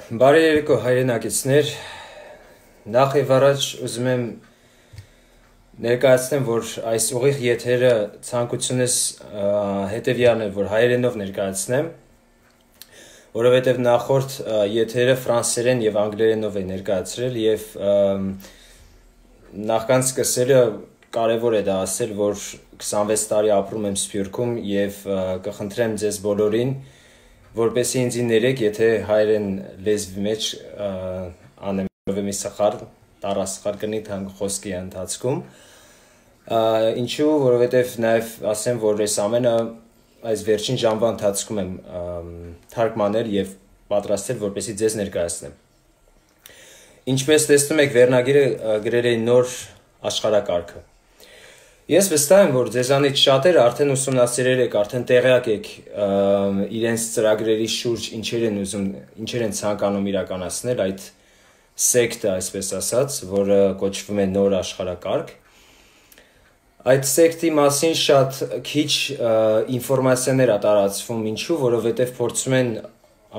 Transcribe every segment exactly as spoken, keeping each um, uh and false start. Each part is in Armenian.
Բարի երեկո հայրենակիցներ, նախ եւ առաջ ուզում եմ ներկայացնեմ, որ այս ուղիղ եթերը ցանկությունս հետեւյալն է, որ հայերենով ներկայացնեմ, որովհետեւ նախորդ եթերը ֆրանսերեն եւ անգլերենով է ներկայացրել եւ նախքան սկսելը կարևոր է դա ասել, որ քսանվեց տարի ապրում եմ Սփյուռքում եւ կխնդրեմ ձեզ բոլորին որպեսզի ինձ ներեք, եթե հայերեն լեզվի մեջ անեմ մի սխալ, տարասխալ կնի թանկ խոսքի ընթացքում, ինչու, որովհետև նաև ասեմ, որ այս ամենը այս վերջին ժամվա ընթացքում եմ թարգմանել եւ պատրաստել, որպեսզի ձեզ ներկայացնեմ։ Ինչպես տեսնում եք, վերնագիրը գրել է նոր աշխարհակարգը։ Ես վստահ եմ, որ ձեզանից շատերը արդեն ուսումնասիրել եք, արդեն տեղյակ եք իրենց ծրագրերի շուրջ ինչեր են ուզում, ինչեր են ցանկանում իրականացնել այդ սեկտը, այսպես ասած, որը կոչվում է նոր աշխարհակարգ։ Այդ սեկտի մասին շատ քիչ ինֆորմացիաներ է տարածվում, ինչու, որովհետև փորձում են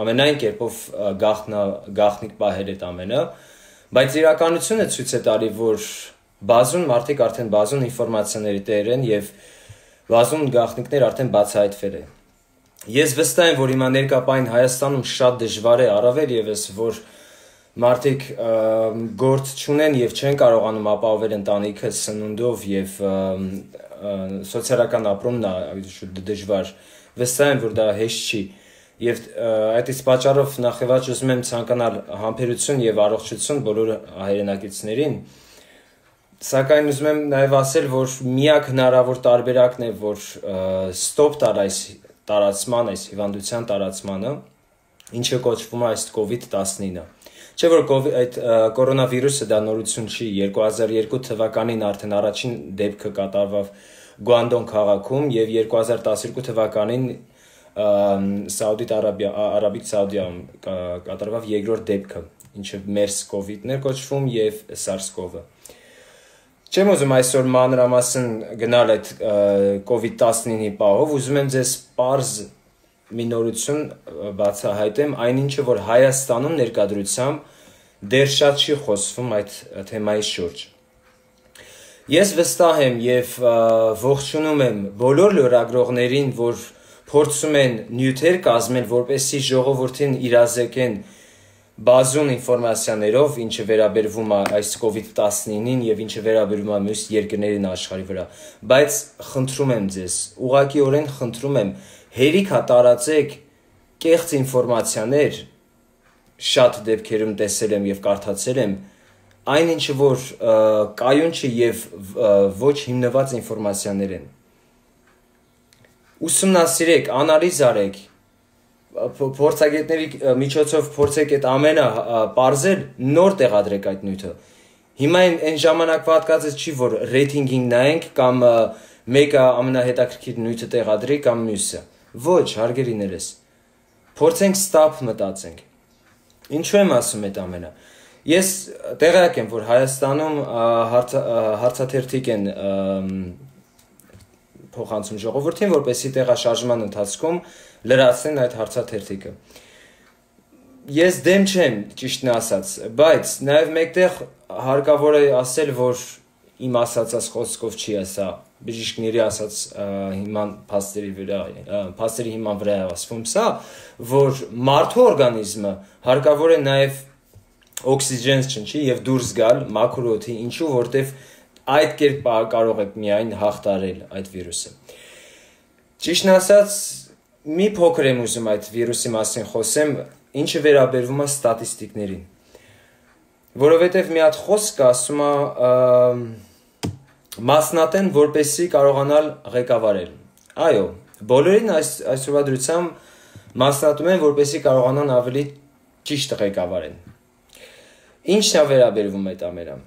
ամենայն կերպով գաղտնիք պահել այդ ամենը, բայց իրականությունը ցույց է տալի, որ բազում մարդիկ արդեն բազում ինֆորմացիաների տեր են եւ բազում գաղտնիքներ արդեն բացահայտվել են։ Ես վստահ եմ, որ հիմա ներկայապային Հայաստանում շատ դժվար է, առավել եւս, որ մարդիկ գործ չունեն եւ չեն կարողանում ապահովել ընտանիքը սնունդով եւ սոցիալական ապրումն է դժվար։ Վստահ եմ, որ դա հեշտ չի։ Եվ այդից պատճառով նախևաճ ուզում եմ ցանկանալ համբերություն եւ առողջություն բոլոր հայրենակիցներին։ Սակայն ուզում եմ նաև ասել, որ միակ հնարավոր տարբերակն է, որ ստոպ տալ այս տարածման, այս հիվանդության տարածմանը, ինչը կոչվում է այս կովիդ տասնինը։ Չէ՞ որ այդ կորոնավիրուսը դա նորություն չի, երկու հազար երկու թվականին արդեն առաջին դեպքը կատարվավ Գուանդոն քաղաքում եւ երկու հազար տասներկու թվականին Սաուդիտ Արաբիկ Սաուդիայում կատարվավ երկրորդ դեպքը, ինչը MERS կովիդն էր կոչվում եւ SARS-CoV-ը։ Չեմ ուզում այսօր մանրամասն գնալ այդ կովիդ տասնինի պահով, ուզում եմ ձեզ պարզ մի նորություն բացահայտեմ, այնինչը, որ Հայաստանում ներկայությամբ դեռ շատ չի խոսվում այդ թեմայի շուրջ։ Ես վստահ եմ եւ ողջունում եմ բոլոր լրագրողներին, որ փորձում են նյութեր կազմել, որպեսզի ժողովրդին իրազեկեն բազում ինֆորմացիաներով, ինչը վերաբերվում է այս կովիդ տասնինին եւ ինչը վերաբերվում է մյուս երկրներին աշխարհի վրա, բայց խնդրում եմ ձեզ, ուղղակիորեն խնդրում եմ, հերիք հա տարածեք կեղծ ինֆորմացիաներ, շատ դեպքերում տեսել եմ եւ կարդացել եմ, այնինչը որ կայուն չի եւ ոչ հիմնված ինֆորմացիաներ են։ Ուսումնասիրեք, անալիզ արեք, փորձագետների միջոցով փորձեք այդ ամենը պարզել, նոր տեղադրեք այդ նյութը։ Հիմա այն ժամանակվա հատկացած չի, որ ռեյտինգին նայենք կամ մեկը ամենահետաքրքիր նյութը տեղադրի կամ մյուսը։ Ոչ, հարգելիներս։ Փորձենք ստապ մտածենք։ Ինչու եմ ասում այդ ամենը։ Ես տեղյակ եմ, որ Հայաստանում հարցաթերթիկ են փոխանցում ժողովրդին, որպեսզի տեղաշարժման ընթացքում լրացնեն այդ հարցաթերթիկը։ Ես դեմ չեմ, ճիշտն ասած, բայց նաև մեկտեղ հարկավոր է ասել, որ իմ ասածած խոսքով չի ասա, բժիշկների ասած հիման փաստերի վրա, փաստերի հիման վրա է ասվում սա, որ մարդու օրգանիզմը հարկավոր է նաև օքսիգեն չնչի եւ դուրս գալ մաքուր օդի, ինչու որտեվ այդ կերպ կարող եք միայն հաղթարել այդ վիրուսը։ Ճիշտն ասած, մի փոքր եմ ուզում այդ վիրուսի մասին խոսեմ, ինչը վերաբերվում է ստատիստիկներին։ Որովհետև մի հատ խոսք ասում է մասնատեն, որպեսզի կարողանալ ղեկավարել։ Այո, բոլորին այս այսօրվա դրությամբ մասնատում են, որպեսզի կարողանան ավելի ճիշտ ղեկավարեն։ Ինչն է վերաբերվում այդ ամենը։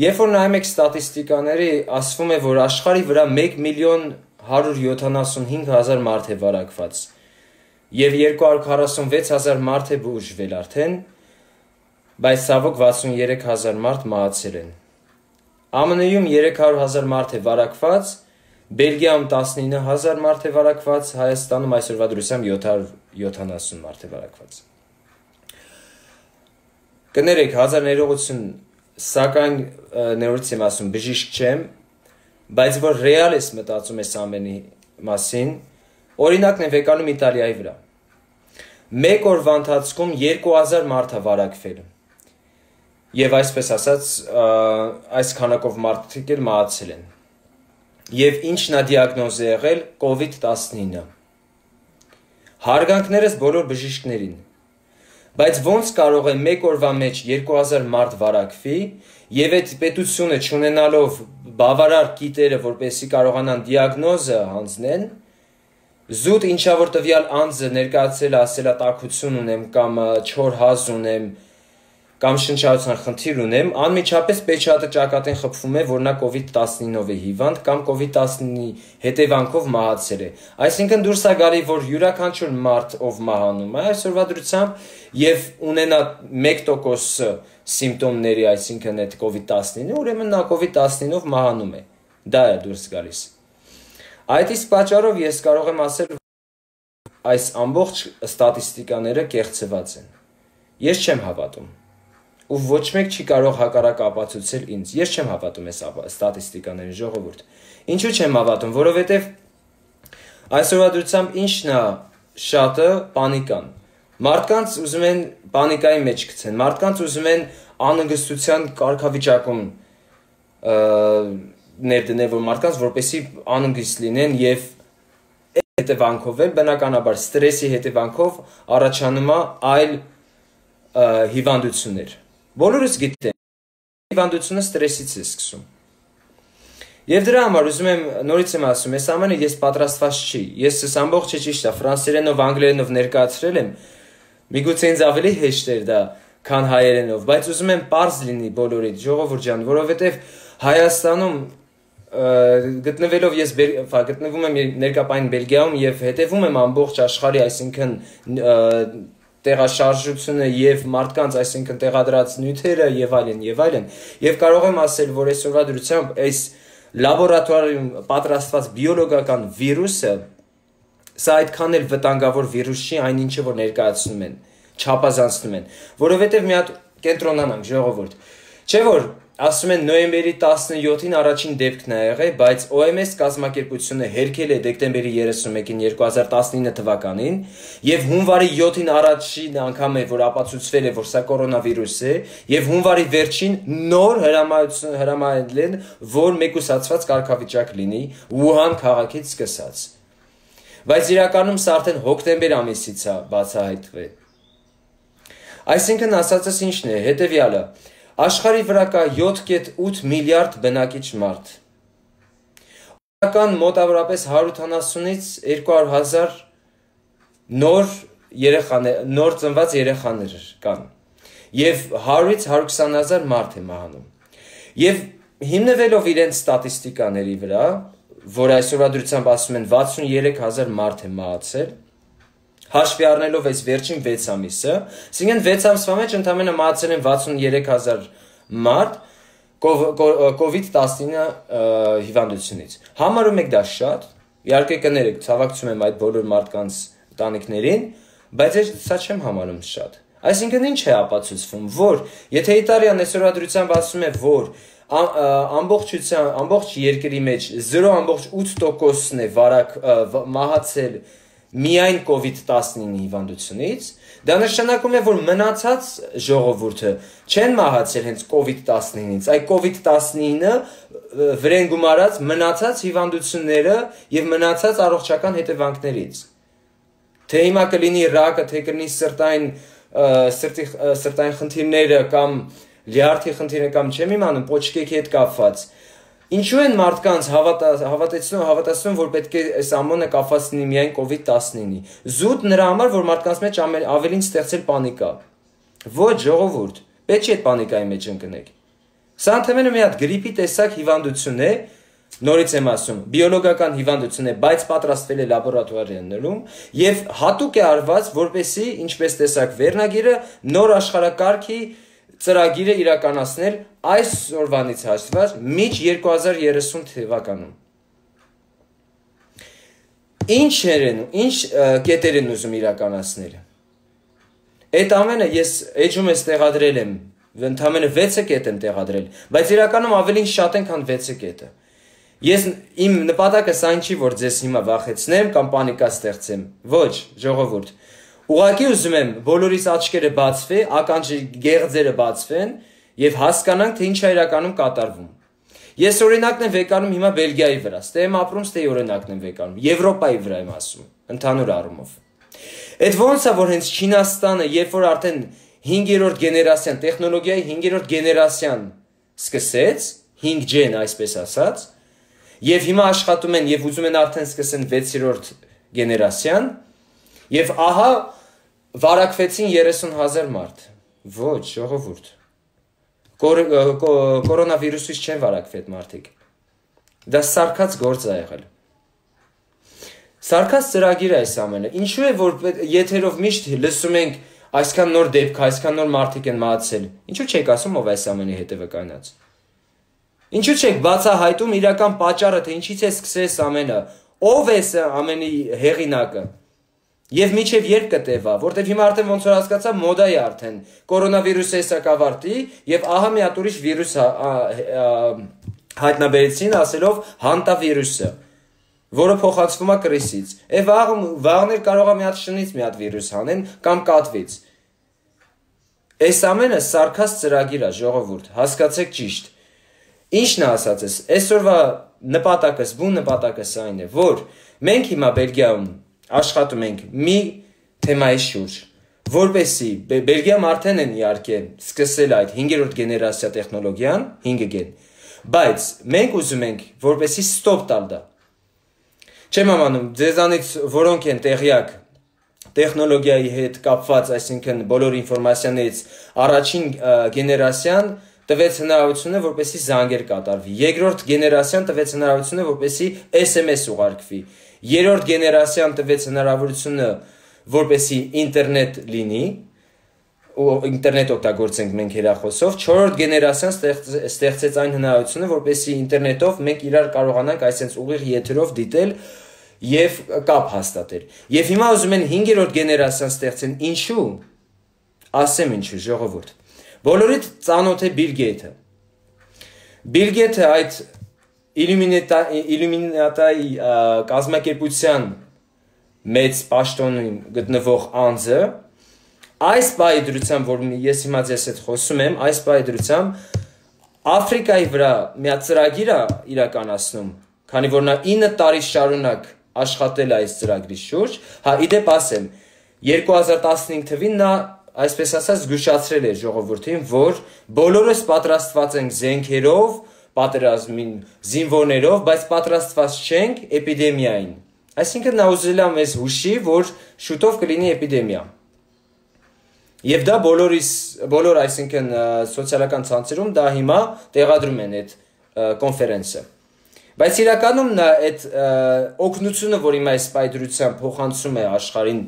Երբ որ նայում եք ստատիստիկաների, ասվում է, որ աշխարհի վրա մեկ միլիոն հարյուր յոթանասունհինգ հազար մարդ է վարակված եւ երկու հարյուր քառասունվեց հազար մարդ է բուժվել արդեն, բայց ցավոք վաթսուներեք հազար մարդ մահացել են։ Ամն Ում երեք հարյուր հազար մարդ է վարակված, Բելգիայում տասնինը հազար մարդ է վարակված, Հայաստանում այսօրվա դրությամբ յոթ հարյուր յոթանասուն մարդ է վարակված։ կներեք հազար ներողություն, սակայն նորից եմ ասում, բժիշկ չեմ, բայց որ ռեալ ես մտածում ես ամենի մասին, օրինակն եմ վեկանում Իտալիայի վրա։ Մեկ օրվա ընթացքում երկու հազար մարդ է վարակվել։ Եվ այսպես ասած, այս քանակով մարդիկ էլ մահացել են։ Եվ ինչն է դիագնոզը եղել կովիդ տասնինը։ Հարգանքներս բոլոր բժիշկներին։ Բայց ոնց կարող է մեկ օրվա մեջ երկու հազար մարդ վարակվի եւ այդ պետությունը չունենալով բավարար գիտերը, որպեսզի կարողանան դիագնոզը հանձնեն, զուտ ինչա որ տվյալ անձը ներկայացել ասել է տաքություն ունեմ կամ չոր հազ ունեմ կամ շնչառության խնդիր ունեմ, անմիջապես պեչատը ճակատին խփվում է, որ նա կովիդ տասնինով է հիվանդ կամ կովիդ տասնինի հետևանքով մահացել է։ Այսինքն դուրս է գալի, որ յուրաքանչյուր մարդ, ով մահանում է այսօրվա դրությամբ եւ ունենա մեկ տոկոս սիմպտոմների, այսինքն այդ կովիդ տասնինը, ուրեմն նա կովիդ տասնինով մահանում է։ Դա է դուրս գալիս։ Այդ իսկ պատճառով ես կարող եմ ասել, այս ամբողջ ստատիստիկաները կեղծված են։ Ես չեմ հավատում։ Ու ոչ մեկ չի կարող հակառակ ապացուցել ինձ։ Ես չեմ հավատում այս ստատիստիկաներին, ժողովուրդ։ Ինչու չեմ հավատում, որովհետև այսօրվա դրությամբ ինչն է շատը պանիկան։ Մարդկանց ուզում են պանիկայի մեջ գցեն, մարդկանց ուզում են անհանգստության կարգավիճակում ներդնել, որ մարդկանց որպեսզի անհանգիստ լինեն եւ հետևանքով էլ բնականաբար ստրեսի հետևանքով առաջանում է այլ հիվանդություններ։ Բոլորս գիտեն, հիվանդությունը ստրեսից է սկսում։ Եվ դրա համար ուզում եմ նորից եմ ասում, այս ամենը ես պատրաստված չի։ Ես այս ամբողջը ճիշտ է, ֆրանսերենով, անգլերենով ներկայացրել եմ։ Միգուցե ինձ ավելի հեշտ էր դա, քան հայերենով, բայց ուզում եմ պարզ լինի բոլորիդ, ժողովուրդ ջան, որովհետև Հայաստանում գտնվելով ես գտնվում եմ ներկայապային Բելգիայում եւ հետեւում եմ ամբողջ աշխարհի, այսինքն տեղաշարժությունը եւ մարդկանց, այսինքն տեղադրած նյութերը եւ այլն եւ այլն, եւ կարող եմ ասել, որ այսօրվա դրությամբ այս լաբորատորիայում պատրաստված բիոլոգիական վիրուսը սա այդքան էլ վտանգավոր վիրուս չի, այնինչը որ ներկայացնում են, չափազանցնում են, որովհետեւ մի հատ կենտրոնանանք, ժողովուրդ, չէ՞ որ ասում են նոյեմբերի տասնյոթին առաջին դեպքն է եղել, բայց O M S կազմակերպությունը հերքել է դեկտեմբերի երեսունմեկին երկու հազար տասնինը թվականին եւ հունվարի յոթին առաջին անգամ է որ ապացուցվել է որ սա կորոնավիրուս է եւ հունվարի վերջին նոր հրամայություն հրամայել են որ մեկուսացված կարգավիճակ լինի Ուհան քաղաքից սկսած։ Բայց իրականում սա արդեն հոկտեմբեր ամիսից է բացահայտվել։ Այսինքն ասածս ինչն է, հետեւյալը Աշխարհի վրա կա յոթ կետ ութ միլիարդ բնակիչ մարդ։ Օրական մոտավորապես հարյուր ութանասունից երկու հարյուր հազար նոր երեխաներ, նոր ծնված երեխաներ կան։ Եվ հարյուրից հարյուր քսան հազար մարդ է մահանում։ Եվ հիմնվելով իրենց ստատիստիկաների վրա, որ այսօրվա դրությամբ ասում են վաթսուներեք հազար մարդ է մահացել, հաշվի առնելով այս վերջին վեց ամիսը, այսինքն վեց ամսվա մեջ ընդամենը մահացել են վաթսուներեք հազար մարդ կովիդ տասնինը հիվանդությունից։ Համարում եք դա շատ, իհարկե կներեք, ցավակցում եմ այդ բոլոր մարդկանց տանիքներին, բայց ես սա չեմ համարում շատ։ Այսինքն ինչ է ապացուցվում, որ եթե Իտալիան այսօրվա դրությամբ ասում է, որ ամբողջության ամբողջ երկրի մեջ զրո բացարձակ ութ տոկոսն է վարակ մահացել միայն կովիդ տասնինը հիվանդությունից, դա նշանակում է, որ մնացած ժողովուրդը չեն մահացել հենց կովիդ տասնինից, այլ կովիդ տասնինը վրեն գումարած մնացած հիվանդությունները եւ մնացած առողջական հետևանքներից։ Թե հիմա կլինի ռակը, թե կլինի սրտային սրտի սրտային խնդիրները կամ լյարդի խնդիրը կամ չեմ իմանում, պոչկեքի հետ կապված։ Ինչու են մարդկանց հավատացնում, հավատացնում, որ պետք է այս ամոնը կապված լինի միայն կովիդ տասնինի։ Զուտ նրա համար, որ մարդկանց մեջ ավելին ստեղծել պանիկա։ Ոչ, ժողովուրդ, պետք չէ այդ պանիկայի մեջ ընկնեք։ Սա ընդհանրապես մի հատ գրիպի տեսակ հիվանդություն է, նորից եմ ասում, բիոլոգիական հիվանդություն է, բայց պատրաստվել է լաբորատորիաներում եւ հատուկ է արված, որպեսզի, ինչպես տեսակ վերնագիրը, նոր աշխարհակարգի ծրագիրը իրականացնել այս օրվանից հաշվված միջ երկու հազար երեսուն թվականում։ Ինչ են, ինչ կետեր են ուզում իրականացնել։ Այդ ամենը ես էջում ես տեղադրել եմ, ընդամենը վեցը կետ եմ տեղադրել, բայց իրականում ավելին շատ են, քան վեցը կետը։ Ես իմ նպատակը այն չի, որ ձեզ հիմա վախեցնեմ կամ պանիկա ստեղծեմ։ Ոչ, ժողովուրդ։ Ուղղակի ուզում եմ բոլորիս աչքերը բացվի, ականջի գեղձերը բացվեն եւ հասկանանք, թե ինչ է իրականում կատարվում։ Ես օրինակն եմ վեկանում հիմա Բելգիայի վրա, ստե եմ ապրում, ստե օրինակն եմ վեկանում, Եվրոպայի վրա եմ ասում, ընդհանուր առումով։ Այդ ոնց է, որ հենց Չինաստանը, երբ որ արդեն հինգերորդ գեներացիան, տեխնոլոգիայի հինգերորդ գեներացիան սկսեց, հինգ ջի-ն այսպես ասած, եւ հիմա աշխատում են եւ ուզում են արդեն սկսեն վեցերորդ գեներացիան, եւ ահա վարակվեցին երեսուն հազար մարդ։ Ոչ, ժողովուրդ։ Կորոնավիրուսից չեն վարակվի այդ մարդիկ։ Դա սարքած գործ է եղել։ Սարքած ծրագիր է այս ամենը։ Ինչու է որ եթերով միշտ լսում ենք այսքան նոր դեպք, այսքան նոր մարդիկ են մահացել։ Ինչու չեք ասում ով այս ամենի հետևը կայնած։ Ինչու չեք բացահայտում իրական պատճառը, թե ինչից է սկսես ամենը։ Ով է ամենի հեղինակը։ Եվ միջև երբ կտևա, որտեվ հիմա արդեն ոնց որ հասկացա մոդա է արդեն կորոնավիրուսը էսա կավարտի եւ ահա մի հատ ուրիշ վիրուս հայտնաբերեցին ասելով հանտավիրուսը, որը փոխանցվում է կրիսից։ Է վաղ վաղներ կարող է մի հատ շնից մի հատ վիրուս հանեն կամ կատվից։ Այս ամենը սարքած ծրագիր է, ժողովուրդ, հասկացեք ճիշտ։ Ինչն է ասածս, այսօրվա նպատակս, բուն նպատակս այն է, որ մենք հիմա Բելգիայում աշխատում ենք մի թեմայի շուրջ, որպեսի Բելգիայում արդեն են իհարկե սկսել այդ հինգերորդ գեներացիա տեխնոլոգիան, հինգ գեն, բայց մենք ուզում ենք, որպեսի ստոպ տալ դա։ Չեմ ամանում, ձեզանից որոնք են տեղյակ տեխնոլոգիայի հետ կապված, այսինքն բոլոր ինֆորմացիաներից առաջին գեներացիան տվեց հնարավորությունը, որպեսի զանգեր կատարվի։ Երկրորդ գեներացիան տվեց հնարավորությունը, որպեսի էս էմ էս ուղարկվի։ Երրորդ գեներացիան տվեց հնարավորությունը, որպեսի ինտերնետ լինի, ու ինտերնետ օգտագործենք մենք հեռախոսով։ Չորրորդ գեներացիան ստեղծեց այն հնարավորությունը, որպեսի ինտերնետով մենք իրար կարողանանք այսպես ուղիղ եթերով դիտել եւ կապ հաստատել։ Եվ հիմա ուզում են հինգերորդ գեներացիան ստեղծեն, ինչու՞։ Ասեմ ինչու, ժողովուրդ։ Բոլորիդ ծանոթ է Բիլ Գեյթը։ Բիլ Գեյթը այդ Իլյումինատայի կազմակերպության մեծ պաշտոնում գտնվող անձը այս բայի դրությամբ, որ ես հիմա ձեզ հետ խոսում եմ, այս բայի դրությամբ Աֆրիկայի վրա մի հատ ծրագիր է իրականացնում, քանի որ նա ինը տարի շարունակ աշխատել է այս ծրագրի շուրջ, հա իդեպ ասեմ, երկու հազար տասնհինգ թվականին նա այսպես ասած զգուշացրել է ժողովրդին, որ բոլորս պատրաստված ենք զենքերով, պատերազմին, զինվորներով, բայց պատրաստված չենք էպիդեմիային։ Այսինքն նա ուզել է մեզ հուշի, որ շուտով կլինի էպիդեմիա։ Եվ դա բոլորիս, բոլոր այսինքն սոցիալական ցանցերում դա հիմա տեղադրում են այդ կոնֆերենսը։ Բայց իրականում նա այդ օգնությունը, որ հիմա այս պայդրությամբ փոխանցում է աշխարհին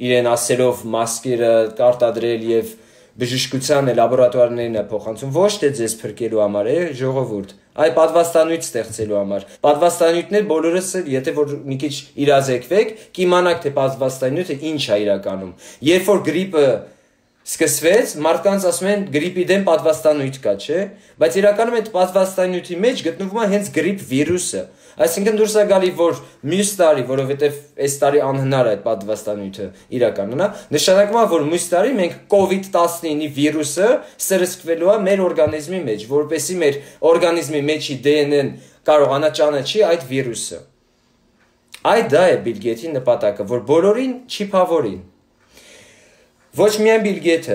իրեն ասելով մասկերը կարտադրել եւ բժշկության լաբորատուարներն է փոխանցում ոչ թե ձեզ փրկելու համար է ժողովուրդ, այ պատվաստանյութ ստեղծելու համար։ Պատվաստանյութներ բոլորս էլ, եթե որ մի քիչ իրազեկվեք, կիմանաք թե պատվաստանյութը ինչ է իրականում։ Երբ որ գրիպը սկսվեց, մարդկանց ասում են գրիպի դեմ պատվաստանյութ կա, չէ՞, բայց իրականում այդ պատվաստանյութի մեջ գտնվում է հենց գրիպ վիրուսը։ Այսինքն դուրս է գալի, որ մյուս տարի, որովհետև այս տարի անհնար է այդ պատվաստանյութը իրականանա, նշանակում է, որ մյուս տարի մենք կովիդ տասնինը վիրուսը սրսկվելու է մեր օրգանիզմի մեջ, որպեսզի մեր օրգանիզմի մեջի դե են են կարողանա ճանաչի այդ վիրուսը։ Այդ դա է Բիլ Գեյթի նպատակը, որ բոլորին չիփավորին։ Ոչ միայն Բիլ Գեյթը,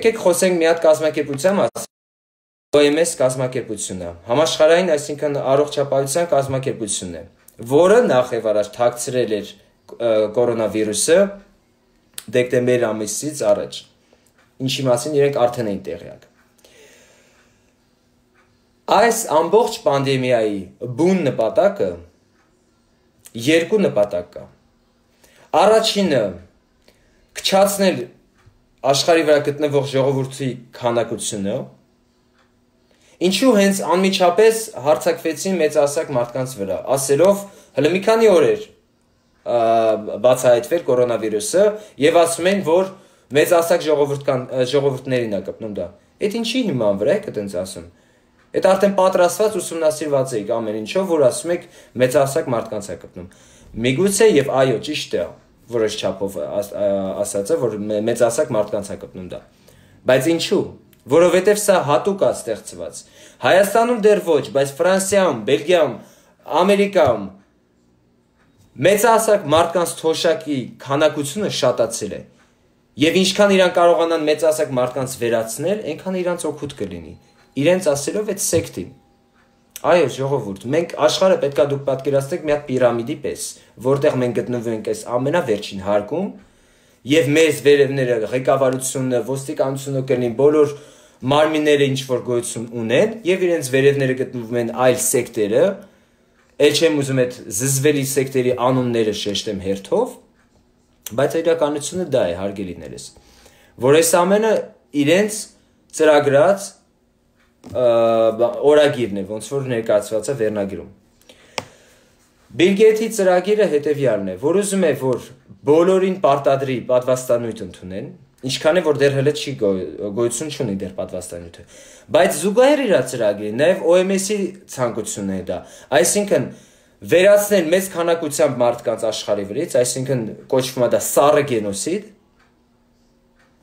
եկեք խոսենք մի հատ կազմակերպության մասին, O M S կազմակերպությունը, համաշխարհային, այսինքն առողջապահության կազմակերպությունն է, որը նախ եւ առաջ թաքցրել էր կորոնավիրուսը դեկտեմբեր ամիսից առաջ, ինչի մասին իրենք արդեն էին տեղյակ։ Այս ամբողջ պանդեմիայի բուն նպատակը երկու նպատակ կա։ Առաջինը քչացնել աշխարհի վրա գտնվող ժողովրդի քանակությունը, ինչու հենց անմիջապես հարձակվեցին մեծահասակ մարդկանց վրա, ասելով հələ մի քանի օր էր բացահայտվել կորոնավիրուսը եւ ասում են, որ մեծահասակ ժողովուրդական ժողովուրդներին է կպնում դա։ Այդ ինչի հիման վրա եք այդպես ասում։ Այդ արդեն պատրաստված ուսումնասիրված է ամեն ինչով, որ ասում եք մեծահասակ մարդկանց է կպնում։ Միգուցե եւ այո, ճիշտ է, որոշ չափով ասածը, որ մեծահասակ մարդկանց է կպնում դա։ Բայց ինչու՞։ Որովհետև սա հատուկ է ստեղծված։ Հայաստանում դեռ ոչ, բայց Ֆրանսիայում, Բելգիայում, Ամերիկայում մեծահասակ մարդկանց թոշակի քանակությունը շատացել է։ Եվ ինչքան իրան կարողանան մեծահասակ մարդկանց վերացնել, այնքան իրանց օգուտ կլինի։ Իրենց ասելով այդ սեկտին։ Այո, ժողովուրդ, մենք աշխարհը պետքա դուք պատկերացնեք մի հատ պիրամիդի պես, որտեղ մենք գտնվում ենք այս ամենավերջին հարկում, եւ մեզ վերևները ղեկավարությունը, ոստիկանությունը կլինի, բոլոր մարմինները ինչ որ գոյություն ունեն, եւ իրենց վերևները գտնվում են այլ սեկտերը, ել չեմ ուզում այդ զզվելի սեկտերի անունները շեշտեմ հերթով, բայց իրականությունը դա է, հարգելիներս, որ այս ամենը իրենց ծրագրած օրագիրն է, ոնց որ ներկայացված է վերնագրում։ Բիլ Գեյթի ծրագիրը հետևյալն է, որ ուզում է, որ բոլորին պարտադրի պատվաստանյութ ընդունեն, ինչքան է որ դեռ հələ չի գոյություն չունի դեռ պատվաստանյութը, բայց զուգահեռ իր ծրագրի, նաև O M S-ի ցանկությունն է դա, այսինքն վերացնել մեծ քանակությամբ մարդկանց աշխարհի վրից, այսինքն կոչվում է դա սառը գենոսիդ,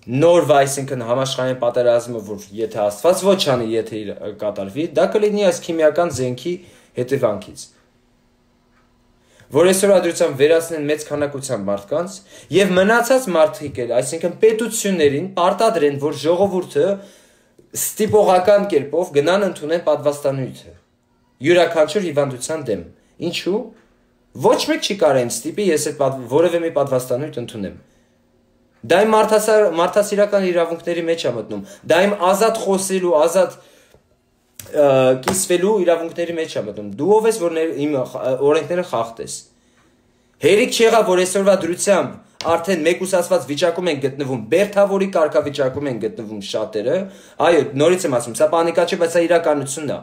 նոր, այսինքն համաշխարհային պատերազմը, որ եթե Աստված ոչ անի, եթե կատարվի, դա կլինի այս քիմիական զենքի հետևանքից, որ այսօր ադրությամբ վերացնեն մեծ քանակությամբ մարդկանց եւ մնացած մարդիկ էլ, այսինքն պետություններին պարտադրեն, որ ժողովուրդը ստիպողական կերպով գնան ընդունեն պատվաստանյութը յուրաքանչյուր հիվանդության դեմ։ Ինչու՞։ Ոչ մեկ չի կարող ինձ ստիպի ես այդ որևէ մի պատվաստանյութ ընդունեմ։ Դա իմ մարդասիրական իրավունքների մեջ է մտնում։ Դա իմ ազատ խոսելու, ազատ կիսվելու իրավունքների մեջ է մտնում։ Դու ով ես, որ իմ օրենքները խախտես։ Հերիք չեղա, որ այսօրվա դրությամբ արդեն մեկուսացված վիճակում են գտնվում, բերթավորի կարգավիճակում են գտնվում շատերը։ Այո, նորից եմ ասում, սա պանիկա չէ, բայց սա իրականությունն է։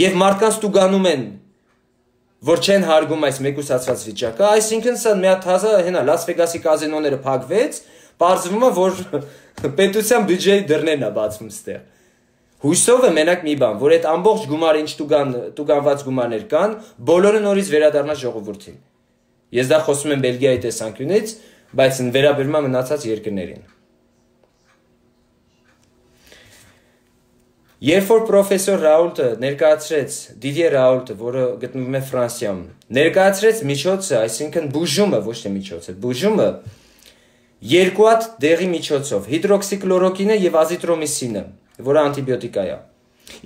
Եվ մարդկանց տուգանում են, որ չեն հարգում այս մեկուսացված վիճակը, այսինքն սա մի հատ հազա հենա Լաս Վեգասի կազինոները փակվեց, պարզվում է, որ պետության բյուջեի դռներն է բացվում ստեղ։ Հույսով է մենակ մի բան, որ այդ ամբողջ գումարը ինչ տուգան տուգանված գումարներ կան, բոլորը նորից վերադառնա ժողովրդին։ Ես դա խոսում եմ Բելգիայի տեսանկյունից, բայց վերաբերում է մնացած երկրներին։ Երբ որ պրոֆեսոր Ռաուլտը ներկայացրեց, Դիդիե Ռաուլտը, որը գտնվում է Ֆրանսիայում, ներկայացրեց միջոցը, այսինքն բուժումը, ոչ թե միջոցը, բուժումը երկու հատ դեղի միջոցով, հիդրոքսիկլորոկինը եւ ազիտրոմիսինը, որը անտիբիոտիկա է։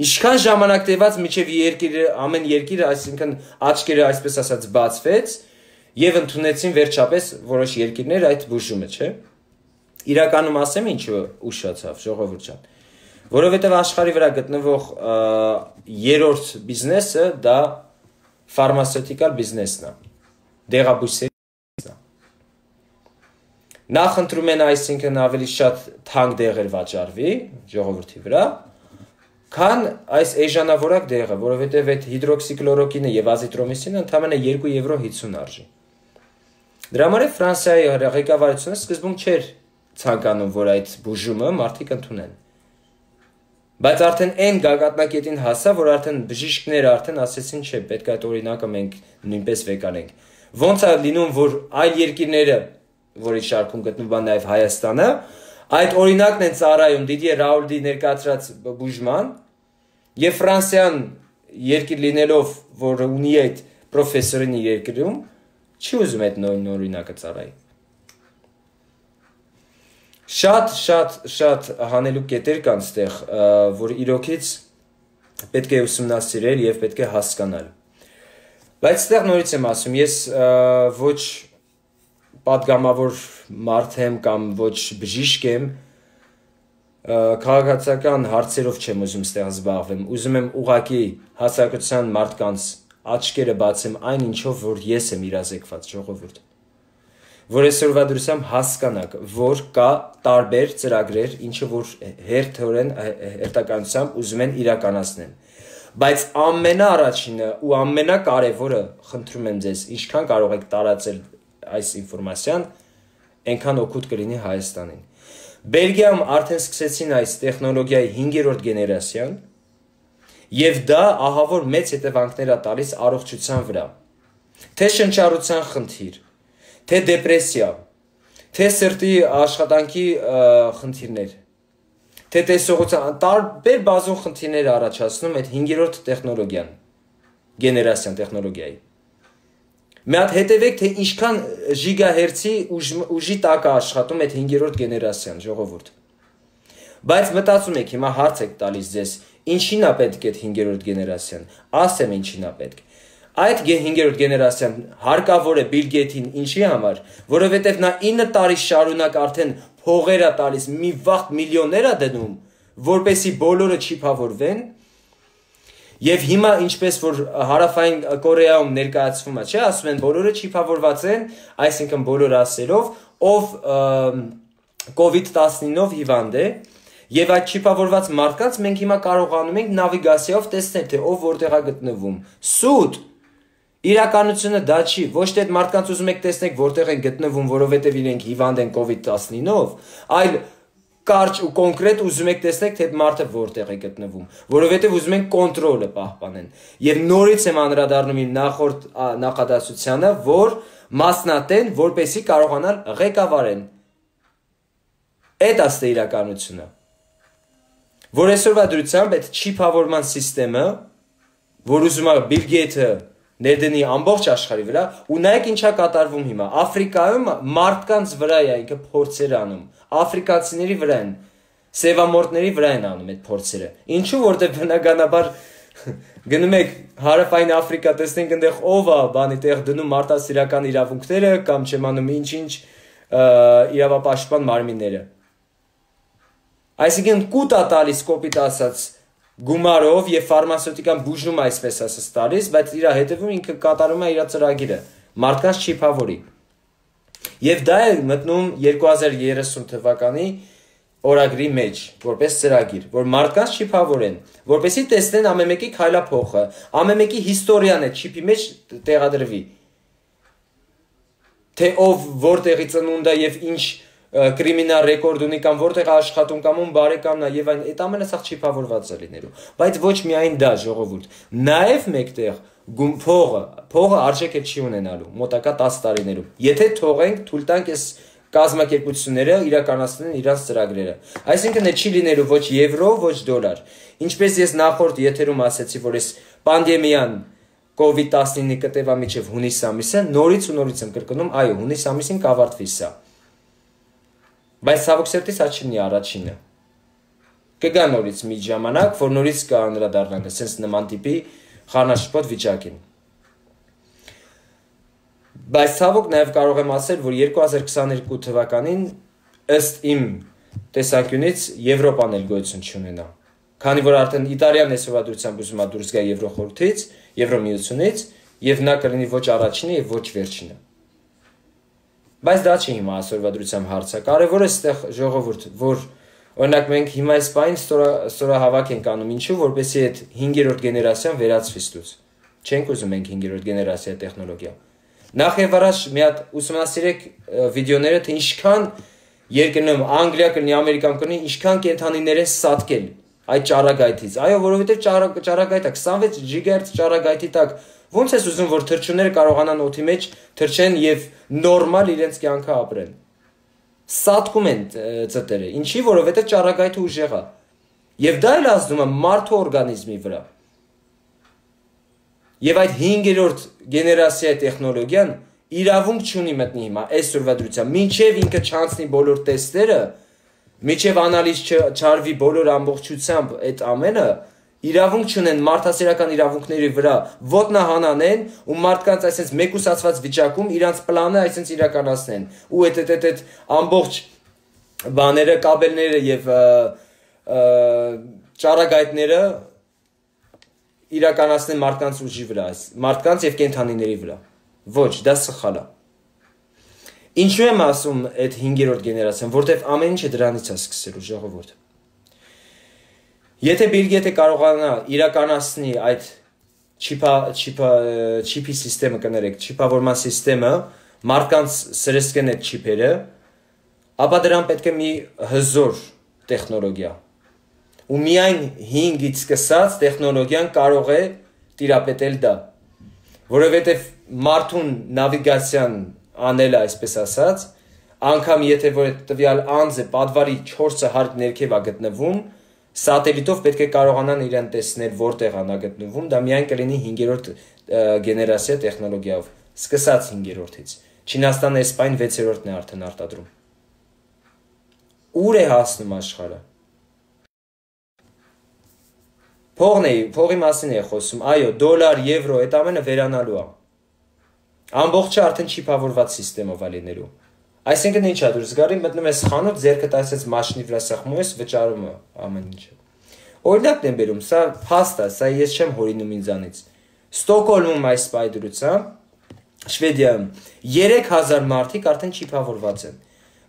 Ինչքան ժամանակ տևած միջև երկիրը, ամեն երկիրը, այսինքն աչքերը այսպես ասած բացվեց եւ ընդունեցին վերջապես որոշ երկիրներ այդ բուժումը, չէ՞։ Իրականում ասեմ ինչու ուշացավ ժողովուրդ ջան։ Որովհետև աշխարհի վրա գտնվող երրորդ բիզնեսը դա ֆարմացևտիկալ բիզնեսն է, դեղաբույսերի բիզնեսն է։ Նախ ընտրում են այսինքն ավելի շատ թանկ դեղեր վաճառվի ժողովրդի վրա, քան այս էժանավորակ դեղը, որովհետև այդ հիդրոքսիկլորոկինը եւ ազիտրոմիսինը ընդամենը երկու եվրո հիսուն արժի։ Դրա համար է Ֆրանսիայի ղեկավարությունը սկզբում չէր ցանկանում, որ այդ բուժումը մարդիկ ընդունեն։ Բայց արդեն այն գագաթնակետին հասա, որ արդեն բժիշկները արդեն ասեցին, չէ, պետք է այդ օրինակը մենք նույնպես վեկանենք։ Ոնց է լինում, որ այլ երկիրները, որի շարքում գտնվում է նաև Հայաստանը, այդ օրինակն են ծառայում Դիդիե Ռաուլտի ներկայացրած բուժման, եւ Ֆրանսիան երկիր լինելով, որ ունի այդ պրոֆեսորին իր երկրում, չի ուզում այդ նույն օրինակը ծառայի։ Շատ, շատ, շատ հանելուկ կետեր կան ստեղ, որ իրոքից պետք է ուսումնասիրել եւ պետք է հասկանալ։ Բայց ստեղ նորից եմ ասում, ես ոչ պատգամավոր մարդ եմ կամ ոչ բժիշկ եմ, քաղաքացիական հարցերով չեմ ուզում ստեղ զբաղվեմ, ուզում եմ ուղղակի հասարակության մարդկանց աչքերը բացեմ այն ինչով, որ ես եմ իրազեկված ժողովուրդ։ Որ այսօրվա դրությամբ հասկանաք, որ կա տարբեր ծրագրեր, ինչը որ հերթորեն հերթականությամբ ուզում են իրականացնել։ Բայց ամենաառաջինը ու ամենակարևորը, խնդրում եմ ձեզ, ինչքան կարող եք տարածել այս ինֆորմացիան, այնքան օգուտ կլինի Հայաստանին։ Բելգիայում արդեն սկսեցին այս տեխնոլոգիայի հինգերորդ գեներացիան, եւ դա ահավոր մեծ հետևանքներ է տալիս առողջության վրա։ Թե շնչառության խնդիր, թե դեպրեսիա, թե սրտի աշխատանքի խնդիրներ, թե տեսողության տարբեր բազում խնդիրներ առաջացնում այդ հինգերորդ տեխնոլոգիան, գեներացիան տեխնոլոգիայի։ Մի հատ հետևեք, թե ինչքան գիգահերցի ուժի տակ է աշխատում այդ հինգերորդ գեներացիան, ժողովուրդ։ Բայց մտածում եք, հիմա հարց եք տալիս ձեզ, ինչին է պետք այդ հինգերորդ գեներացիան։ Ասեմ ինչին է պետք։ Այդ հինգերորդ գեներացիան հարկավոր է Բիլ Գեյթին ինչի համար, որովհետև նա ինը տարի շարունակ արդեն փողեր է տալիս, մի վաղ միլիոններ է դնում, որպեսի բոլորը չիփավորվեն։ Եվ հիմա ինչպես որ Հարավային Կորեայում ներկայացվում է, չէ, ասում են բոլորը չիփավորված են, այսինքն բոլոր ասելով, ով կովիդ տասնինով հիվանդ է, եւ այդ չիփավորված մարդկանց մենք հիմա կարողանում ենք նավիգացիայով տեսնել, թե ով որտեղ է գտնվում։ Սուտ իրականությունը դա չի, ոչ թե այդ մարդկանց ուզում եք տեսնեք որտեղ են գտնվում, որովհետեւ իրենք հիվանդ են կովիդ տասնինով, այլ կարճ ու կոնկրետ ուզում եք տեսնեք, թե այդ մարդը որտեղ է գտնվում, որովհետև ուզում են կոնտրոլը պահպանեն։ Եվ նորից եմ անդրադառնում իմ նախորդ նախադասությանը, որ մասնատեն, որպեսզի կարողանան ղեկավարեն։ Այդ է իրականությունը։ Որ այսօրվա դրությամբ այդ չիփավորման համակարգը, որ ուզում է Բիլ Գեյթը ներդնի ամբողջ աշխարհի վրա, ու նայեք ինչա կատարվում հիմա։ Աֆրիկայում մարդկանց վրա է ինքը փորձեր անում, աֆրիկացիների վրա են, սևամորտների վրա են անում այդ փորձերը։ Ինչու, որտեղ բնականաբար գնում եք Հարավային Աֆրիկա, տեսնենք այնտեղ ով է բանի տեղ դնում մարդասիրական իրավունքները կամ չեմ անում ինչ-ինչ իրավապաշտպան մարմինները։ Այսինքն կուտ է տալիս կոպիտ ասած գումարով եւ ֆարմացևտիկան բուժում այսպես ասած տալիս, բայց իր հետևում ինքը կատարում է իր ծրագիրը, մարդկանց չիփավորի։ Եվ դա է մտնում երկու հազար երեսուն թվականի օրագրի մեջ, որպես ծրագիր, որ մարդկանց չիփավորեն, որպեսզի տեսնեն ամեն մեկի քայլափոխը, ամեն մեկի հիստորիան է չիփի մեջ տեղադրվի։ Թե ով որտեղի ծնունդ է եւ ինչ կրիմինալ ռեկորդ ունի կամ որտեղ աշխատում կամ ում բարեկամն է եւ այն այդ ամենը սա չիփավորված է լինելու, բայց ոչ միայն դա ժողովուրդ, նաեւ մեկտեղ փողը, փողը արժեք չի ունենալու մոտակա տասը տարիներում։ Եթե թողենք, թույլ տանք այս կազմակերպությունները իրականացնեն իրենց ծրագրերը։ Այսինքն է չի լինելու ոչ եվրո, ոչ դոլար։ Ինչպես ես նախորդ եթերում ասացի, որ այս պանդեմիան կովիդ տասնինը կտևա մինչև հունիս ամիսը, նորից ու նորից եմ կրկնում, այո, հունիս ամիսին կավարտվի սա։ Բայց ցավոք սերտի սա չլինի առաջինը։ Կգա նորից մի ժամանակ, որ նորից կանդրադառնանք sense նման տիպի խառնաշփոթ վիճակին։ Բայց ցավոք նաև կարող եմ ասել, որ երկու հազար քսաներկու թվականին ըստ իմ տեսանկյունից Եվրոպան էլ գոյություն չունենա։ Քանի որ արդեն Իտալիան այսօրվա դուրսում է դուրս գա Եվրոխորհրդից, Եվրոմիությունից, եւ նա կլինի ոչ առաջինը եւ ոչ վերջինը։ Բայց դա չի հիմա այսօրվա դրությամբ հարցը։ Կարևորը այստեղ ժողովուրդ, որ օրինակ մենք հիմա այս բանին ստորահավաք ենք անում, ինչու, որպեսզի այդ հինգերորդ գեներացիան վերածվի ստուց։ Չենք ուզում մենք հինգերորդ գեներացիա տեխնոլոգիա։ Նախ եւ առաջ մի հատ ուսումնասիրեք վիդեոները, թե ինչքան երկրներում Անգլիա կլինի, Ամերիկան կլինի, ինչքան կենթանիներ են սատկել այդ ճառագայթից։ Այո, որովհետեւ ճառագայթը քսանվեց գիգահերց ճառագայթի տակ ոնց ես ուզում, որ թռչունները կարողանան օդի մեջ թռչեն եւ նորմալ իրենց կյանքը ապրեն։ Սատկում են ծտերը։ Ինչի, որովհետեւ ճառագայթը ուժեղ է։ Եվ դա էլ ազդում է մարդու օրգանիզմի վրա։ Եվ այդ հինգերորդ գեներացիայի տեխնոլոգիան իրավունք չունի մտնի հիմա այսօրվա դրությամբ, մինչև ինքը չանցնի բոլոր տեստերը, մինչև անալիզ չարվի բոլոր ամբողջությամբ այդ ամենը, իրավունք չունեն մարդասիրական իրավունքների վրա ոտնահանանեն ու մարդկանց այսպես մեկուսացված վիճակում իրանց պլանը այսպես իրականացնեն ու այդ այդ այդ ամբողջ բաները, կաբելները եւ ճառագայթները իրականացնեն մարդկանց ուժի վրա, մարդկանց եւ կենթանիների վրա։ Ոչ, դա սխալ է։ Ինչու եմ ասում այդ հինգերորդ գեներացիան, որտեվ ամեն ինչը դրանից է սկսելու ժողովուրդ։ Եթե Բիլ Գեյթը կարողանա իրականացնի այդ չիփա չիփա չիփի համակարգը կներեք, չիփավորման համակարգը մարդկանց սրեսկեն այդ չիփերը, ապա դրան պետք է մի հզոր տեխնոլոգիա։ Ու միայն հինգից սկսած տեխնոլոգիան կարող է տիրապետել դա, որովհետև մարդուն նավիգացիան անելը, այսպես ասած, անգամ եթե որ տվյալ անձը պատվարի չորսը հարկ ներքև է գտնվում, սատելիտով պետք է կարողանան իրեն տեսնել որտեղ է նա գտնվում, դա միայն կլինի հինգերորդ գեներացիա տեխնոլոգիայով, սկսած հինգերորդից։ Չինաստանը Էսպանիան վեցերորդն է արդեն արտադրում։ Ուր է հասնում աշխարհը։ Փողն է, փողի մասին է խոսում, այո, դոլար, եվրո, այդ ամենը վերանալու է։ Ամբողջը արդեն չիփավորված համակարգով է լինելու։ Այսինքն ինչ է դուրս գալի, մտնում ես խանութ, ձեռքդ այսպես մաշինի վրա սեղմում ես, վճարում է ամեն ինչը։ Օրինակն եմ բերում, սա փաստ է, սա ես չեմ հորինում ինձանից։ Ստոկհոլմում այս պայդրությամբ, Շվեդիայում երեք հազար մարդիկ արդեն չիփավորված են։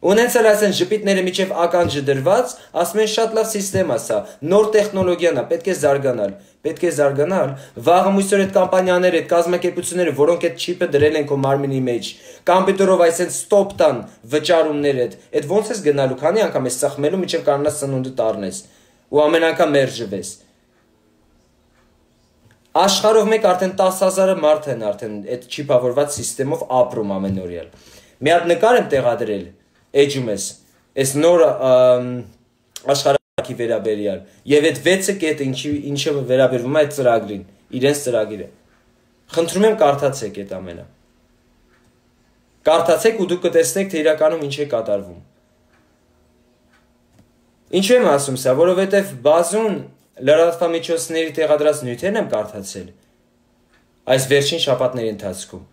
Ունեցել այսեն ժպիտները միջև ականջը դրված, ասում են շատ լավ համակարգ է սա, նոր տեխնոլոգիան է, պետք է զարգանալ, պետք է զարգանալ, վաղը մույսօր այդ կամպանիաները, այդ կազմակերպությունները, որոնք այդ չիպը դրել են քո մարմինի մեջ, կոմպյուտերով այսեն ստոպ տան վճարումները, այդ ոնց ես գնալու, քանի անգամ ես սխմելու, միջև կարողանաս սնունդը տառնես, ու ամեն անգամ մերժվես։ Աշխարհով մեկ արդեն տասը հազարը մարդ են արդեն այդ չիփավորված համակարգով ապրում ամենօրյալ։ Մի հատ նկար եմ տեղադրել, էջում ես, այս նոր աշխարհակի վերաբերյալ, եւ այդ վեցը կետը ինչը վերաբերվում է այդ ծրագրին, իրենց ծրագիրը։ Խնդրում եմ կարդացեք այդ ամենը։ Կարդացեք ու դուք կտեսնեք, թե իրականում ինչ է կատարվում։ Ինչու եմ ասում սա, որովհետև բազում լրատվամիջոցների տեղադրած նյութերն եմ կարդացել այս վերջին շաբաթների ընթացքում,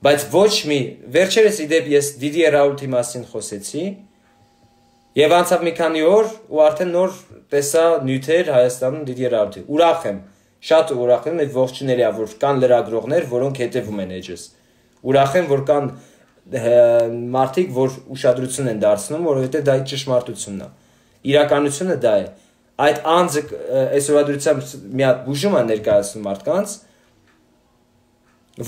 բայց ոչ մի, վերջերս իդեպ ես Դիդիե Ռաուլտի մասին խոսեցի եւ անցավ մի քանի օր ու արդեն նոր տեսա նյութեր Հայաստանում Դիդիե Ռաուլտի։ Ուրախ եմ, շատ ուրախ եմ, այդ ողջուների է, որ կան լրագրողներ, որոնք հետևում են էջս։ Ուրախ եմ, որ կան մարդիկ, որ ուշադրություն են դարձնում, որովհետեւ դա ճշմարտությունն է։ Իրականությունը դա է։ Այդ անձը այսօրվա դրությամբ մի հատ բուժում է ներկայացնում մարդկանց,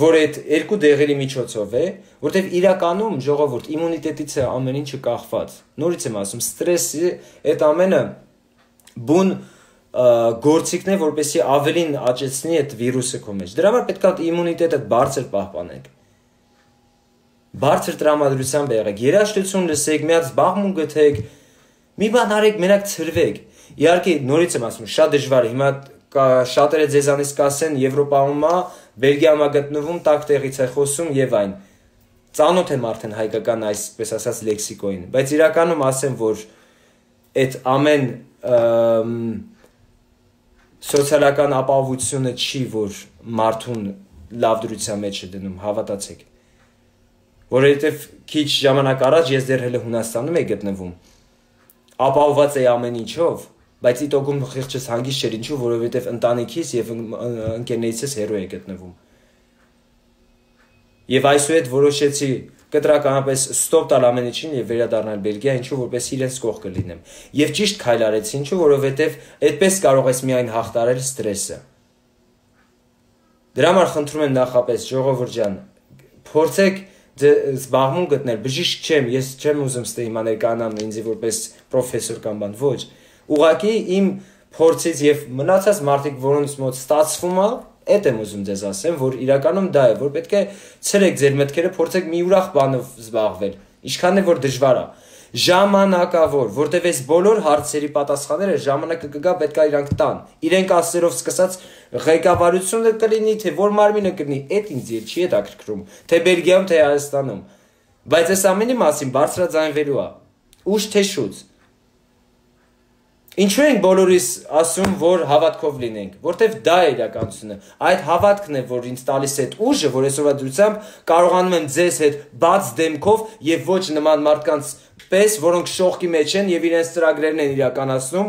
որ այդ երկու դեղերի միջոցով է, որտեղ իրականում ժողովուրդ իմունիտետից է ամեն ինչը կախված։ Նորից եմ ասում, ստրեսի այդ ամենը բուն գործիքն է, որպեսզի ավելին աճեցնի այդ վիրուսը քո մեջ։ Դրա համար պետք է իմունիտետը բարձր պահպանեք։ Բարձր տրամադրությամբ եղեք, երաժշտություն լսեք, մի հատ զբաղմունք գտեք, մի բան արեք, մենակ ցրվեք։ Իհարկե, նորից եմ ասում, շատ դժվար է։ Հիմա շատերը ձեզանից կասեն Եվրոպայում է, Բելգիայում է գտնվում, տակ տեղից է խոսում եւ այն։ Ծանոթ եմ արդեն հայկական այսպես ասած լեքսիկոին, բայց իրականում ասեմ, որ այդ ամեն սոցիալական ապահովությունը չի, որ մարդուն լավ դրության մեջ է դնում, հավատացեք։ Որովհետեւ քիչ ժամանակ առաջ ես դեռ հենց Հունաստանում եի գտնվում։ Ապահոված էի ամեն ինչով, բայց իտոգում խիղճս հանգիստ չէր, ինչու, որովհետև ընտանիքիս եւ ընկերներիցս հեռու էի գտնվում։ Եվ այսուհետ որոշեցի կտրականապես ստոպ տալ ամեն ինչին եւ վերադառնալ Բելգիա, ինչու, որպես իրենց կողքը լինեմ։ Եվ ճիշտ քայլ արեցի, ինչու, որովհետև այդպես կարող ես միայն հաղթարել ստրեսը։ Դրա համար խնդրում եմ նախապես ժողովուրդ ջան, փորձեք զբաղմուն գտնել, բժիշկ չեմ, ես չեմ ուզում ստե հիմա ներկայանամ ինձ որպես պրոֆեսոր կամ բան, ոչ։ Ուղղակի իմ փորձից եւ մնացած մարդիկ, որոնց մոտ ստացվում է, այդ եմ ուզում ձեզ ասեմ, որ իրականում դա է, որ պետք է ցրեք ձեր մտքերը, փորձեք մի ուրախ բանով զբաղվել, ինչքան է որ դժվար է։ Ժամանակավոր, որտեղ այս բոլոր հարցերի պատասխանները ժամանակը կգա, պետք է իրանք տան։ Իրենք ասերով սկսած ղեկավարությունը կլինի, թե որ մարմինը կլինի, այդ ինձ չի հետաքրքրում, թե Բելգիայում, թե Հայաստանում։ Բայց այս ամենի մասին բարձրաձայնվելու է։ Ուշ թե շուտ։ Ինչու ենք բոլորիս ասում, որ հավատքով լինենք, որտեվ դա է իրականությունը։ Այդ հավատքն է, որ ինձ տալիս է այդ ուժը, որ այսօրվա դրությամբ կարողանում եմ ձեզ հետ բաց դեմքով եւ ոչ նման մարդկանց պես, որոնք շողքի մեջ են եւ իրենց ծրագրերն են իրականացնում,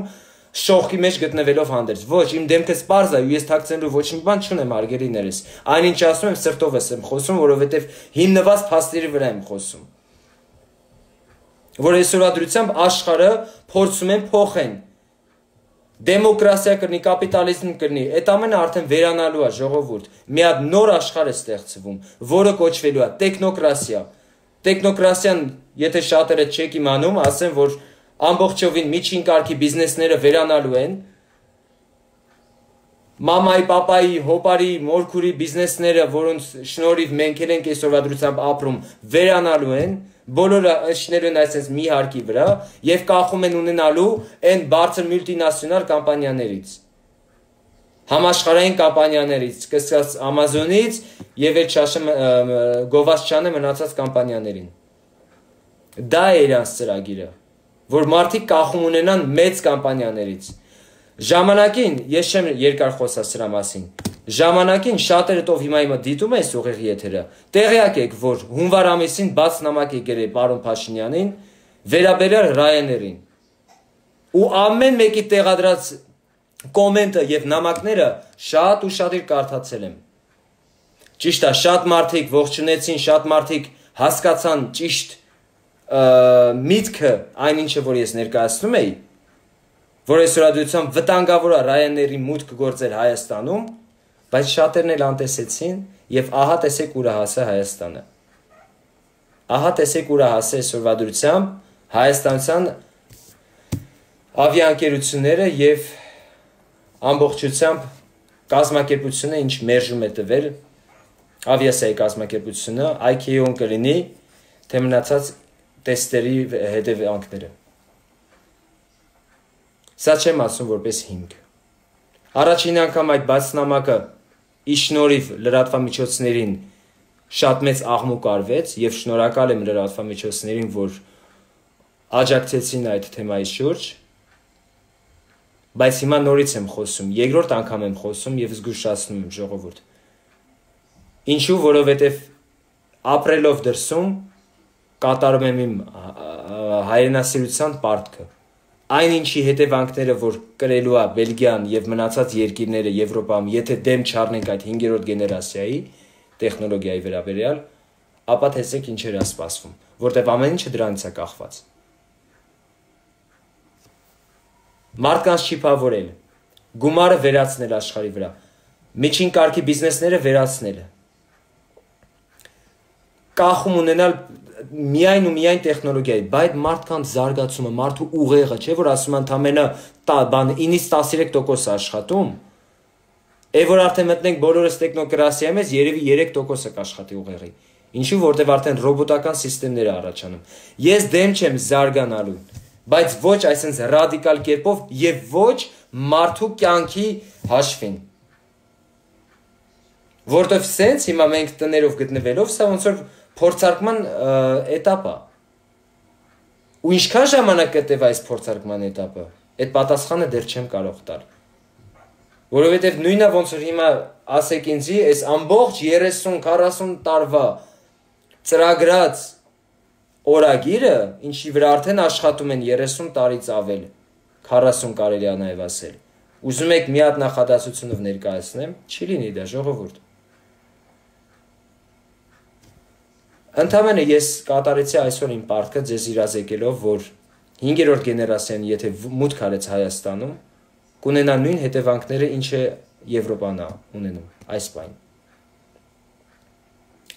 շողքի մեջ գտնվելով հանդերձ։ Ոչ, իմ դեմքը սպարզ է, ու ես թաքցնելու ոչ մի բան չունեմ, հարգելիներս։ Այնինչ ասում եմ, սրտովս եմ խոսում, որովհետեւ հիմնված փաստերի վրա եմ խոսում։ Որ այսօրվա դրությամբ աշխարհը փորձում են փոխեն։ Դեմոկրատիա կրնի, կապիտալիզմ կրնի, այդ ամենը արդեն վերանալու է ժողովուրդ։ Մի հատ նոր աշխարհ է ստեղծվում, որը կոչվելու է տեխնոկրատիա։ Տեխնոկրատիան եթե շատերը չեք իմանում, ասեմ, որ ամբողջովին միջին կարգի բիզնեսները վերանալու են, մամայի, պապայի, հոպարի, մորքուրի բիզնեսները, որոնց շնորհիվ մենք էլ ենք այսօրվա դրությամբ ապրում, վերանալու են, բոլորը շնելու են այսպես մի հարկի վրա եւ կախում են ունենալու այն բարձր մուլտինացիոնալ կամպանիաներից, համաշխարհային կամպանիաներից, սկսած Amazon-ից եւ այդ շաշը գովաց չանը մնացած կամպանիաներին։ Դա է իրանց ծրագիրը, որ մարդիկ կախում ունենան մեծ կամպանիաներից։ Ժամանակին, ես չեմ երկար խոսա սրա մասին, ժամանակին շատերը տով հիմա հիմա դիտում են ուղիղ եթերը, տեղյակ եք, որ հունվար ամիսին բաց նամակ եկել է պարոն Փաշինյանին, վերաբերյալ Ryanair-ին։ Ու ամեն մեկի տեղադրած կոմենտը եւ նամակները շատ ու շատ իր կարդացել եմ։ Ճիշտ է, շատ մարդիկ ողջունեցին, շատ մարդիկ հասկացան ճիշտ միտքը այն ինչը որ ես ներկայացնում էի, որ այսօրադրությամբ վտանգավոր է Ryanair-ի մուտքը գործել Հայաստանում, բայց շատերն էլ անտեսեցին եւ ահա տեսեք ուր է հասել Հայաստանը։ Ահա տեսեք ուր է հասել այսօրադրությամբ հայաստանցան ավիաընկերությունները եւ ամբողջությամբ կազմակերպությունը, ինչ մերժում է տվել ավիասիայի կազմակերպությունը, I C A O-ն կլինի, թե մնացած տեստերի հետևանքները։ Սա չեմ ասում որպես հիմք։ Առաջին անգամ այդ բացնամակը ի շնորհիվ լրատվամիջոցներին շատ մեծ աղմուկ արվեց եւ շնորհակալ եմ լրատվամիջոցներին, որ աջակցեցին այդ թեմայի շուրջ, բայց հիմա նորից եմ խոսում, երկրորդ անգամ եմ խոսում եւ զգուշացնում եմ ժողովուրդ։ Ինչու, որովհետեւ ապրելով դրսում կատարում եմ իմ հայրենասիրության պարտքը։ Այն ինչի հետևանքները, որ կրելու է Բելգիան եւ մնացած երկիրները Եվրոպայում, եթե դեմ չառնենք այդ հինգերորդ գեներացիայի տեխնոլոգիայի վերաբերյալ, ապա տեսեք ինչեր է սպասվում, որտեղ ամեն ինչը դրանից է կախված։ Մարդկանց չիփավորել, գումարը վերացնել աշխարհի վրա, միջին կարգի բիզնեսները վերացնելը, կախում ունենալ միայն ու միայն տեխնոլոգիայի, բայց մարդկանց զարգացումը, մարդու ուղեղը, չէ՞ որ ասում ընդամենը բան ինից տասնյոթ տոկոս աշխատում, է որ արդեն մտնենք բոլորս տեխնոկրատիայի մեջ, երևի երեք տոկոսը կաշխատի ուղեղի։ Ինչու, որտեղ արդեն ռոբոտական սիստեմներ է առաջանում։ Ես դեմ չեմ զարգանալու, բայց ոչ այսպես ռադիկալ կերպով եւ ոչ մարդու կյանքի հաշվին։ Որտեվ սենց հիմա մենք տներով գտնվելով, սա ոնց որ փորձարկման էտապ է։ Ու ինչքան ժամանակ կտեվ այս փորձարկման էտապը, այդ պատասխանը դեռ չեմ կարող տալ։ Որովհետև նույնը ոնց որ հիմա ասեք ինձի, այս ամբողջ երեսուն քառասուն տարվա ծրագրած օրագիրը, ինչի վրա արդեն աշխատում են երեսուն տարից ավել, քառասուն կարելի է նաև ասել։ Ուզում եք մի հատ նախադասությունով ներկայացնեմ, չի լինի դա ժողովուրդ։ Ընդամենը ես կատարեցի այսօր իմ պարտքը ձեզ իրազեկելով, որ հինգերորդ գեներացիան եթե մուտք արեց Հայաստանում, կունենա նույն հետևանքները, ինչը Եվրոպան է ունենում այս պայն։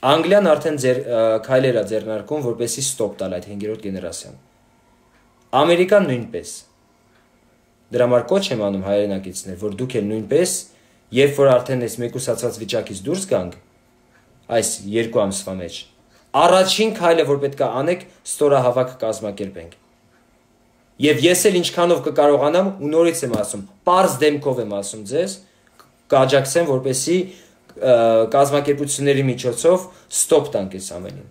Անգլիան արդեն ձեր քայլեր է ձեռնարկում, որպեսզի ստոպ տալ այդ հինգերորդ գեներացիան։ Ամերիկան նույնպես։ Դրա համար կոչ եմ անում հայրենակիցներ, որ դուք էլ նույնպես, երբ որ արդեն այս մեկուսացած վիճակից դուրս գանք, այս երկու ամսվա մեջ, առաջին քայլը, որ պետք է անեք, ստորահավաք կազմակերպենք։ Եվ ես էլ ինչքանով կկարողանամ, ու նորից եմ ասում, պարզ դեմքով եմ ասում ձեզ, կաջակցեմ, որպեսզի կազմակերպությունների միջոցով ստոպ տանք այս ամենին։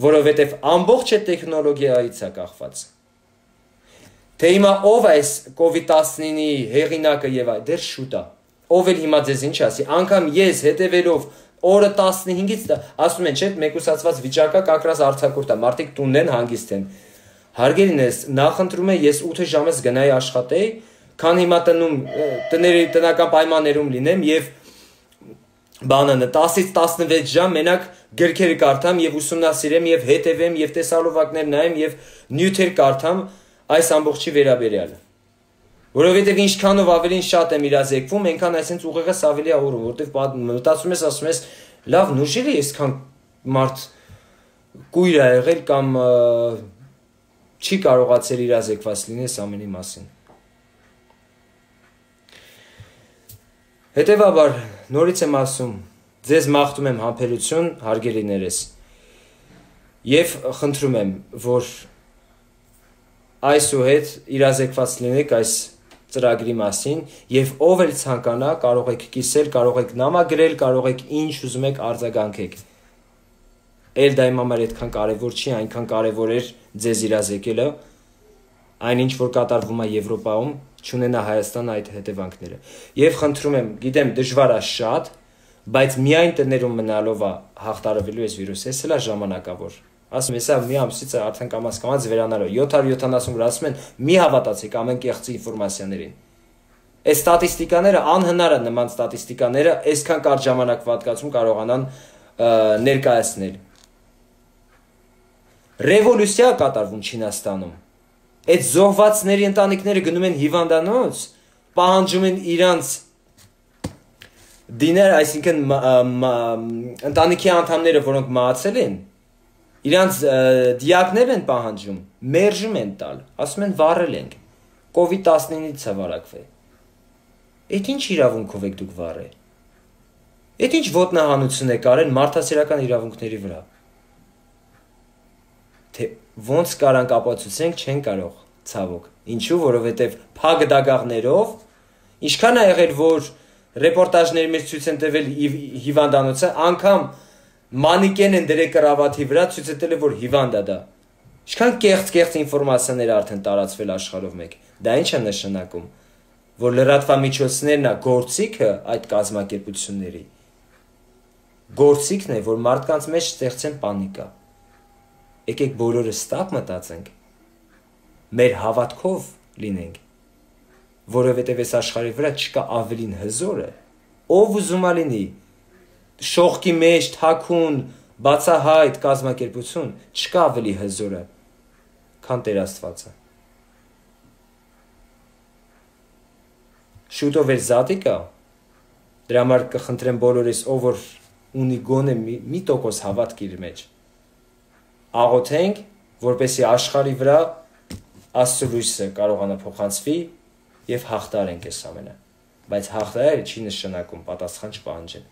Որովհետև ամբողջ այդ տեխնոլոգիայից է կախված։ Թե հիմա ով է այս կովիդ տասնինի հեղինակը եւ այլ, դեռ շուտ է։ Ով էլ հիմա ձեզ ինչ ասի, անգամ ես հետևելով օրը տասնհինգից ասում են, չէ՞, մեկուսացված վիճակը կակրած արձակուրդ է, մարդիկ տունն են, հանգիստ են։ Հարգելինս, նախընտրում եմ ես ութ ժամից գնայի աշխատեի, քան հիմա տնում տների տնական պայմաններում լինեմ եւ բանանը տասից տասնվեց ժամ մենակ գրքեր կարդամ եւ ուսումնասիրեմ եւ հետևեմ եւ տեսալովակներ նայեմ եւ նյութեր կարդամ այս ամբողջի վերաբերյալ։ Որովհետեւ ինչքանով ավելին շատ եմ իրազեկվում, այնքան այսպես ուղեղս ավելի աղուրում, որտեվ մտածում ես, ասում ես, լավ, նուժելի է այսքան մարդ կույր է եղել կամ չի կարողացել իրազեկված լինել ամենի մասին։ Հետևաբար, նորից եմ ասում, ձեզ մաղթում եմ համբերություն, հարգելիներս, եւ խնդրում եմ, որ այսուհետ իրազեկված լինեք այս ծրագրի մասին եւ ով էլ ցանկանա կարող եք կիսել, կարող եք նամագրել, կարող եք ինչ ուզում եք արձագանքեք։ Էլ դա իմ համար այդքան կարևոր չի, այնքան կարևոր էր ձեզ իրազեկելը, այնինչ որ կատարվում է Եվրոպայում, չունենա Հայաստանը այդ հետևանքները։ Եվ խնդրում եմ, գիտեմ դժվար է շատ, բայց միայն տներում մնալով է հաղթարվելու այս վիրուսը, էս էլ է ժամանակավոր։ Ասում եմ, հեսա մի ամսից արդեն կամաց կամաց վերանալու։ յոթ հարյուր յոթանասուն որ ասում են, մի հավատացեք ամեն կեղծի ինֆորմացիաներին։ Այս ստատիստիկաները անհնար է նման ստատիստիկաները այսքան կարճ ժամանակ պատկացում կարողանան ներկայացնել։ Ռևոլյուցիա կատարվում Չինաստանում։ Այդ զոհվածների ընտանիքները գնում են հիվանդանոց, պահանջում են իրանց դիներ, այսինքն ընտանիքի անդամները, որոնք մահացել են, իրանց դիակներ են պահանջում, մերժում են տալ, ասում են վառել ենք, կովիդ տասնինից է վարակվել։ Այդ ինչ իրավունքով եք դուք վառել։ Այդ ինչ ոտնահանություն եք արել մարդասիրական իրավունքների վրա։ Թե ոնց կարանք ապացուցենք, չեն կարող, ցավոք։ Ինչու, որովհետև փակ դագաղներով ինչքան է եղել, որ ռեպորտաժների մեջ ցույց են տվել հիվանդանոցը, անգամ մանիկեն են դրել կրավաթի վրա, ցույց է տվել, որ հիվանդ է դա։ Ինչքան կեղծ-կեղծ ինֆորմացիաներ արդեն տարածվել աշխարհով մեկ։ Դա ինչ է նշանակում, որ լրատվամիջոցներն է գործիքը այդ կազմակերպությունների։ Գործիքն է, որ մարդկանց մեջ ստեղծեն պանիկա։ Եկեք բոլորը ստապ մտածենք, մեր հավատքով լինենք, որովհետև այս աշխարհի վրա չկա ավելին հզորը, ով ուզում է լինի, շողքի մեջ, թաքուն, բացահայտ կազմակերպություն, չկա ավելի հզորը, քան Տեր Աստվածը։ Շուտով էր զատիկա, դրա համար կխնդրեմ բոլորիս, ով որ ունի գոնե մի տոկոս հավատք իր մեջ, աղոթենք, որպեսզի աշխարհի վրա Աստծո լույսը կարողանա փոխանցվի եւ հաղթարենք այս ամենը։ Բայց հաղթարը չի նշանակում պատասխան չպահանջել։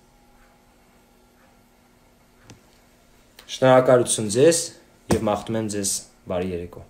Շնորհակալություն ձեզ եւ մաղթում եմ ձեզ բարի երեկո։